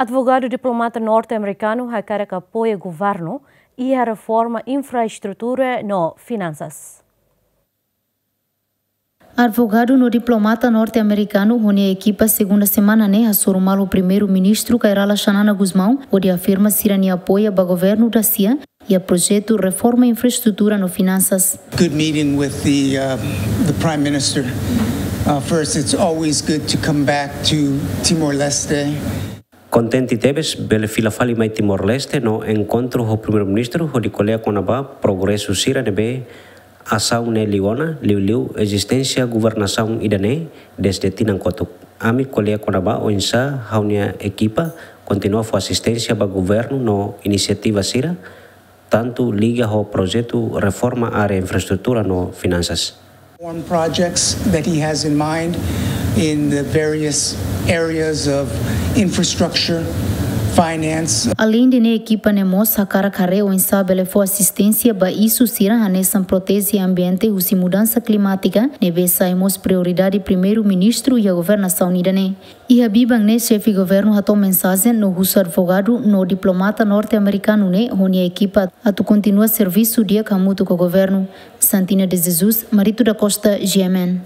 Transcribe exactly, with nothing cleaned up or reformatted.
Advogadu diplomata norte-amerikanu hakarak apoia governu iha reforma infraestrutura no finansas. Advogadu no diplomata norte-amerikanu ho nia ekipa segunda semana ne'e hasoru malu Primeiru-Ministru Kay Rala Xanana Gusmão, hodi afirma sira-nia apoia ba governu da-sia iha projetu reforma infraestrutura no finansas. Good meeting with the, uh, the Prime Minister. Uh, first, it's always good to come back to Timor-Leste. Kontente tebes bele fila fali mai Timor-Leste no enkontru ho Primeiru-Ministru hodi ko'alia kona-ba progresu sira ne'ebé asaun ne'e liu ona, liuliu ezisténsia governasaun ida-ne'e dezde tinan kotuk. Ami ko'alia kona-ba oinsá ha'u-nia ekipa kontinua fó asisténsia ba governu no inisiativa sira, tantu liga ho projetu reforma área infraestrutura no finansas. On projects that he has in mind in the various areas of infrastructure, finance. Aleinde ne'e, ekipa ne'e mós hakarak haree oinsá bele fó asisténsia ba isu sira hanesan proteje ambiente husi mudansa klimátika, ne'ebé sai mós prioridade Primeiru-Ministru iha governasaun ida-ne'e. Iha biban ne'e, xefe governu hato'o mensajen no husu advogadu no diplomata norte-amerikanu ne'e ho nia ekipa atu kontinua servisu di'ak hamutuk ho governu. Santina de Jesus, Marito da Costa, G M N.